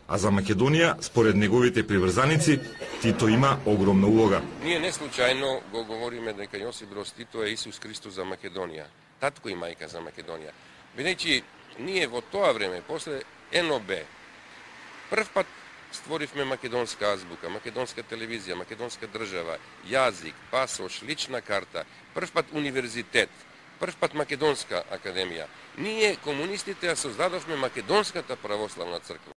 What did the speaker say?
А за Македонија, според неговите приврзаници, Тито има огромна улога. Ние не случајно го говориме дека Јосип Броз Тито е Исус Христос за Македонија, татко и мајка за Македонија. Бидејќи ние во тоа време, после НОБ, прв пат створивме македонска азбука, македонска телевизија, македонска држава, јазик, пасош, лична карта, прв пат универзитет, прв пат македонска академија. Ние, комунистите, ја создадовме Македонската православна црква.